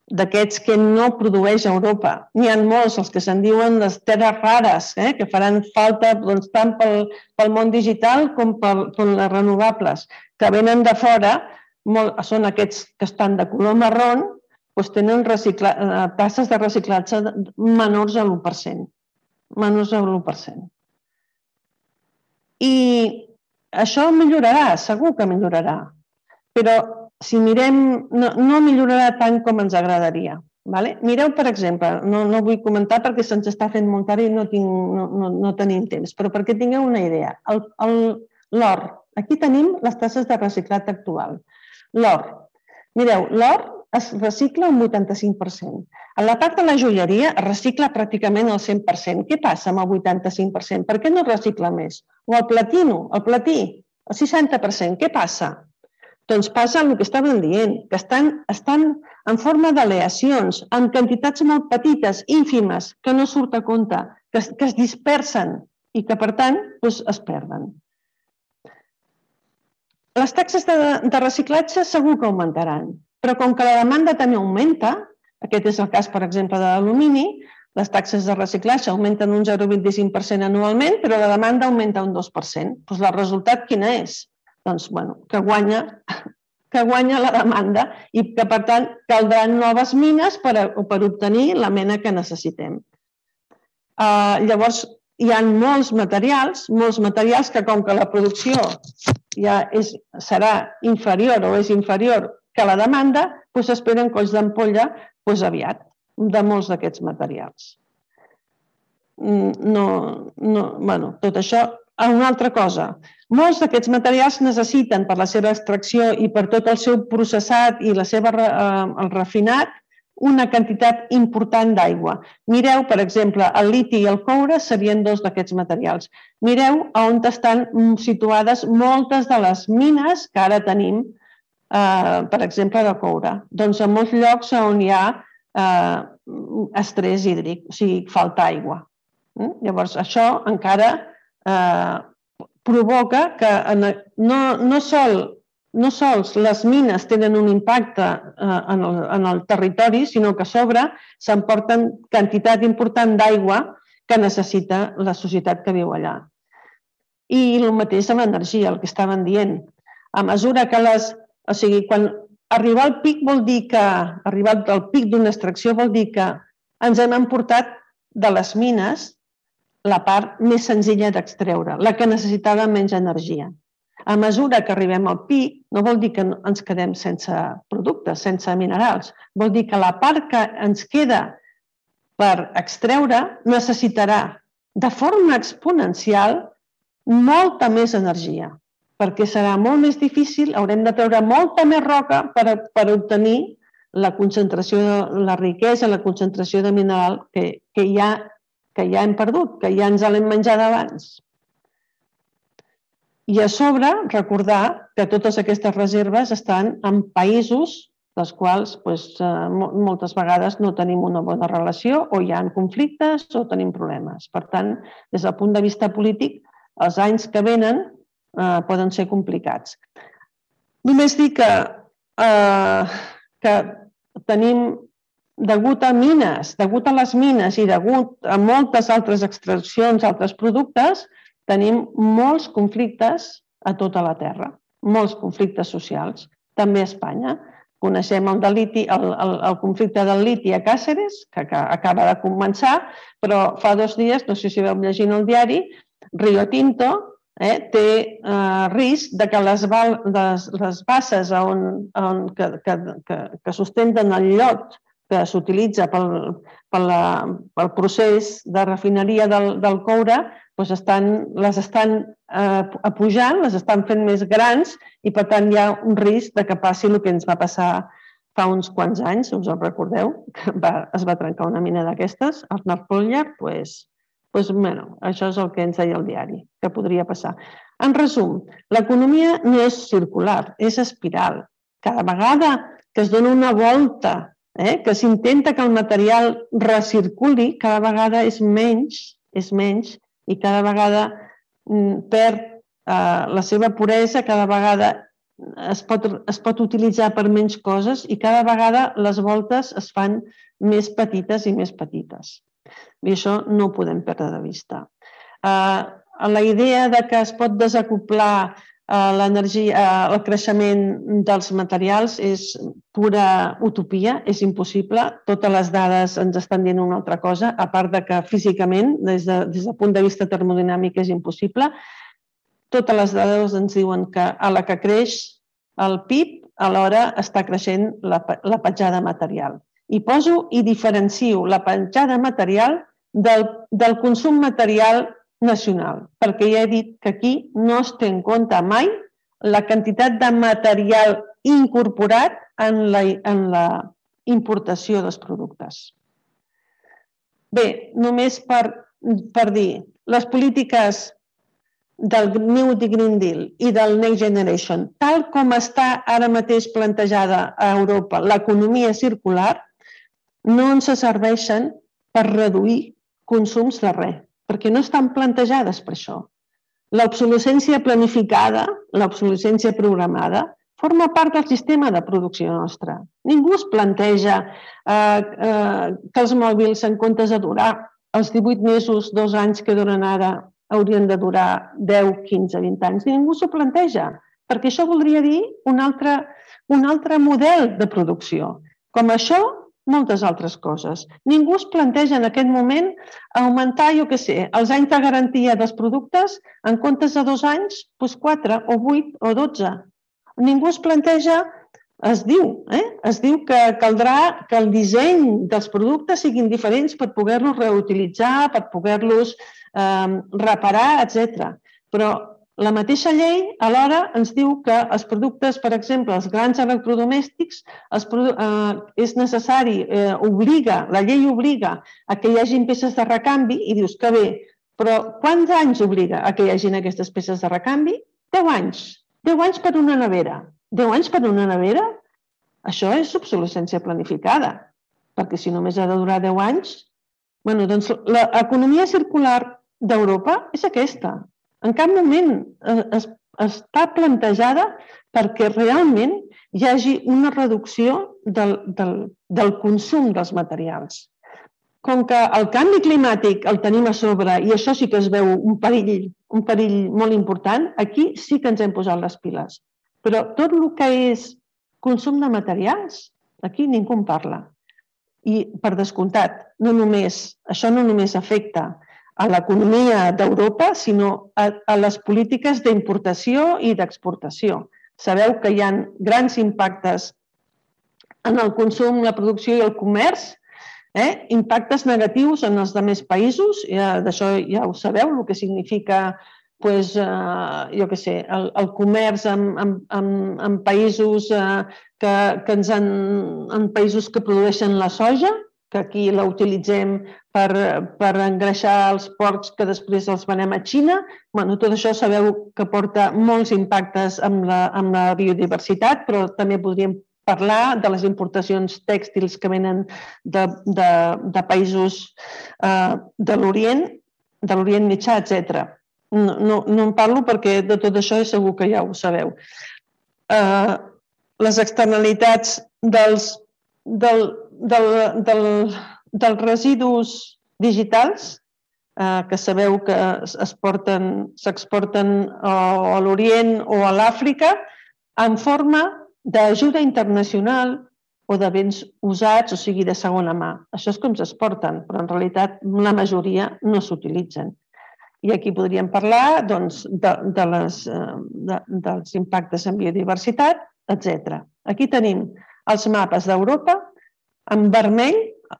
d'aquests que no produeix Europa, n'hi ha molts, els que se'n diuen les terres rares, que faran falta tant pel món digital com per les renovables, que venen de fora, són aquests que estan de color marró, tenen taxes de reciclatge menors a l'u per cent. Menors a l'u per cent. I això millorarà, segur que millorarà, però si mirem, no millorarà tant com ens agradaria. Mireu, per exemple, no vull comentar perquè se'ns està fent molt tard i no tenim temps, però perquè tingueu una idea. L'or, aquí tenim les taxes de reciclat actual. L'or, mireu, l'or es recicla un vuitanta-cinc per cent. A la part de la joieria es recicla pràcticament el cent per cent. Què passa amb el vuitanta-cinc per cent? Per què no es recicla més? O el platino, el platí, el seixanta per cent. Què passa? Doncs passa el que estàvem dient, que estan en forma d'aleacions, en quantitats molt petites, ínfimes, que no surt a compte, que es dispersen i que, per tant, es perden. Les taxes de reciclatge segur que augmentaran, però com que la demanda també augmenta, aquest és el cas, per exemple, de l'alumini, les taxes de reciclatge augmenten un zero coma vint-i-cinc per cent anualment, però la demanda augmenta un dos per cent. Doncs el resultat quin és? Doncs, bueno, que guanya la demanda i que, per tant, caldran noves mines per obtenir la mena que necessitem. Llavors, hi ha molts materials, molts materials que, com que la producció ja serà inferior o és inferior que la demanda, s'esperen colls d'ampolla aviat, de molts d'aquests materials. Tot això, una altra cosa, molts d'aquests materials necessiten per la seva extracció i per tot el seu processat i el seu refinat una quantitat important d'aigua. Mireu, per exemple, el liti i el coure serien dos d'aquests materials. Mireu on estan situades moltes de les mines que ara tenim, per exemple, de coure. Doncs en molts llocs on hi ha estrès hídric, o sigui, falta aigua. Llavors, això encara provoca que no sols les mines tenen un impacte en el territori, sinó que a sobre s'emporten quantitat important d'aigua que necessita la societat que viu allà. I el mateix amb l'energia, el que estaven dient. A mesura que les... O sigui, quan arribar al pic vol dir que... Arribar al pic d'una extracció vol dir que ens hem emportat de les mines la part més senzilla d'extreure, la que necessitava menys energia. A mesura que arribem al pic, no vol dir que ens quedem sense productes, sense minerals. Vol dir que la part que ens queda per extreure necessitarà de forma exponencial molta més energia, perquè serà molt més difícil, haurem de treure molta més roca per obtenir la concentració, la riquesa, la concentració de mineral que ja hem perdut, que ja ens l'hem menjat abans. I a sobre, recordar que totes aquestes reserves estan en països dels quals moltes vegades no tenim una bona relació o hi ha conflictes o tenim problemes. Per tant, des del punt de vista polític, els anys que venen poden ser complicats. Només dir que tenim, degut a mines, degut a les mines i degut a moltes altres extraccions, altres productes, tenim molts conflictes a tota la Terra, molts conflictes socials, també a Espanya. Coneixem el conflicte del liti a Càceres, que acaba de començar, però fa dos dies, no sé si veu llegint el diari, Rio Tinto té risc que les basses que sustenten el llot que s'utilitza pel procés de refineria del coure les estan apujant, les estan fent més grans i per tant hi ha un risc que passi el que ens va passar fa uns quants anys, si us en recordeu, que es va trencar una mina d'aquestes, el Narfolyer, doncs això és el que ens deia el diari, que podria passar. En resum, l'economia no és circular, és espiral. Cada vegada que es dona una volta, que s'intenta que el material recirculi, cada vegada és menys, és menys, i cada vegada perd la seva puresa, cada vegada es pot utilitzar per menys coses i cada vegada les voltes es fan més petites i més petites. I això no ho podem perdre de vista. La idea que es pot desacoblar l'energia, el creixement dels materials és pura utopia, és impossible. Totes les dades ens estan dient una altra cosa, a part de que físicament, des del punt de vista termodinàmic, és impossible. Totes les dades ens diuen que a la que creix el P I B, alhora està creixent la petjada material. I poso i diferencio la petjada material del consum material nacional, perquè ja he dit que aquí no es té en compte mai la quantitat de material incorporat en la importació dels productes. Bé, només per dir, les polítiques del New Green Deal i del Next Generation, tal com està ara mateix plantejada a Europa l'economia circular, no ens serveixen per reduir consums de res, perquè no estan plantejades per això. L'obsolescència planificada, l'obsolescència programada, forma part del sistema de producció nostra. Ningú es planteja que els mòbils, en comptes de durar els divuit mesos, dos anys que duren ara, haurien de durar deu, quinze, vint anys. Ningú s'ho planteja, perquè això voldria dir un altre model de producció. Com això, moltes altres coses. Ningú es planteja en aquest moment augmentar, jo què sé, els anys de garantia dels productes en comptes de dos anys, doncs quatre o vuit o dotze. Ningú es planteja, es diu, es diu que caldrà que el disseny dels productes siguin diferents per poder-los reutilitzar, per poder-los reparar, etcètera. Però la mateixa llei alhora ens diu que els productes, per exemple, els grans electrodomèstics, és necessari, obliga, la llei obliga a que hi hagi peces de recanvi i dius que bé, però quants anys obliga a que hi hagi aquestes peces de recanvi? Deu anys. Deu anys per una nevera. Deu anys per una nevera? Això és obsolescència planificada, perquè si només ha de durar deu anys... Bé, doncs l'economia circular d'Europa és aquesta. En cap moment està plantejada perquè realment hi hagi una reducció del consum dels materials. Com que el canvi climàtic el tenim a sobre i això sí que es veu un perill molt important, aquí sí que ens hem posat les piles. Però tot el que és consum de materials, aquí ningú en parla. I, per descomptat, això no només afecta a l'economia d'Europa, sinó a les polítiques d'importació i d'exportació. Sabeu que hi ha grans impactes en el consum, la producció i el comerç, impactes negatius en els altres països, d'això ja ho sabeu, el que significa jo què sé, el comerç en països que produeixen la soja, que aquí la utilitzem per engreixar els porcs que després els venem a Xina. Tot això sabeu que porta molts impactes amb la biodiversitat, però també podríem parlar de les importacions tèxtils que venen de països de l'Orient, de l'Orient Mitjà, etcètera. No en parlo perquè de tot això segur que ja ho sabeu. Les externalitats dels dels residus digitals, que sabeu que s'exporten a l'Orient o a l'Àfrica, en forma d'ajuda internacional o de béns usats, o sigui, de segona mà. Això és com s'exporten, però en realitat la majoria no s'utilitzen. I aquí podríem parlar dels impactes en biodiversitat, etcètera. Aquí tenim els mapes d'Europa, en vermell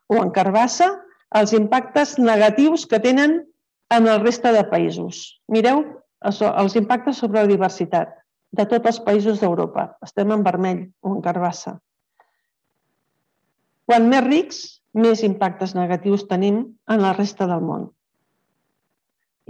o en carbassa, els impactes negatius que tenen en el resta de països. Mireu els impactes sobre la diversitat de tots els països d'Europa. Estem en vermell o en carbassa. Quan més rics, més impactes negatius tenim en la resta del món.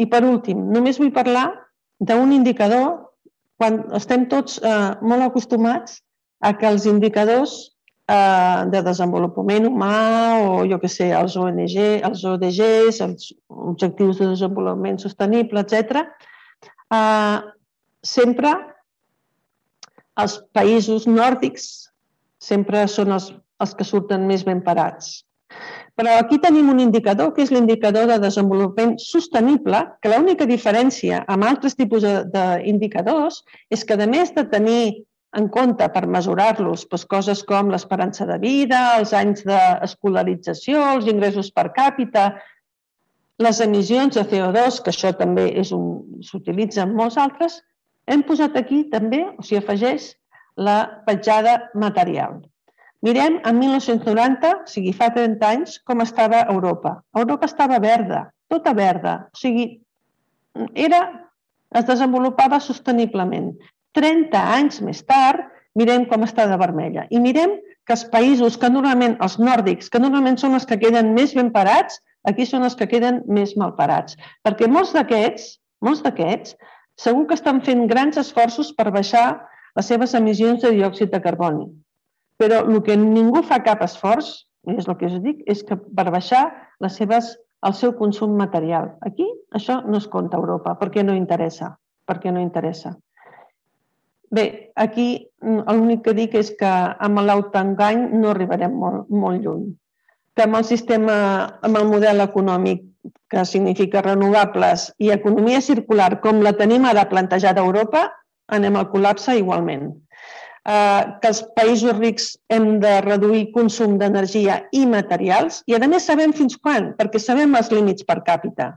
I per últim, només vull parlar d'un indicador quan estem tots molt acostumats a que els indicadors de desenvolupament humà o, jo què sé, els O N G, els O D Gs, els Objectius de Desenvolupament Sostenible, etcètera, sempre els països nòrdics sempre són els que surten més ben parats. Però aquí tenim un indicador, que és l'indicador de desenvolupament sostenible, que l'única diferència amb altres tipus d'indicadors és que, a més de tenir en compte per mesurar-los coses com l'esperança de vida, els anys d'escolarització, els ingressos per càpita, les emissions de C O dos, que això també s'utilitza en molts altres, hem posat aquí també, o sigui, afegeix la petjada material. Mirem, en mil nou-cents noranta, o sigui, fa trenta anys, com estava Europa. Europa estava verda, tota verda, o sigui, era, es desenvolupava sosteniblement. trenta anys més tard, mirem com està de vermella. I mirem que els països que normalment, els nòrdics, que normalment són els que queden més ben parats, aquí són els que queden més mal parats. Perquè molts d'aquests, molts d'aquests, segur que estan fent grans esforços per baixar les seves emissions de diòxid de carboni. Però el que ningú fa cap esforç, és el que us dic, és que per baixar les seves, el seu consum material. Aquí això no es compta a Europa, perquè no interessa. Perquè no interessa. Bé, aquí l'únic que dic és que amb l'autoengany no arribarem molt, molt lluny. Que amb el sistema, amb el model econòmic que significa renovables i economia circular, com la tenim ara plantejada a Europa, anem al col·lapse igualment. Que els països rics hem de reduir consum d'energia i materials i, a més, sabem fins quan, perquè sabem els límits per càpita.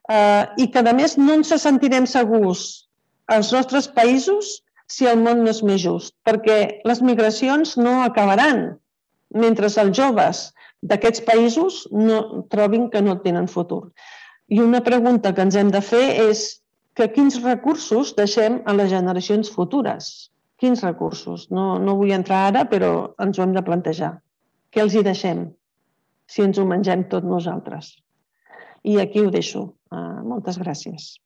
I que, a més, no ens sentirem segurs als nostres països si el món no és més just, perquè les migracions no acabaran mentre els joves d'aquests països no trobin que no tenen futur. I una pregunta que ens hem de fer és que quins recursos deixem a les generacions futures? Quins recursos? No, no vull entrar ara, però ens ho hem de plantejar. Què els hi deixem si ens ho mengem tot nosaltres? I aquí ho deixo. Uh, moltes gràcies.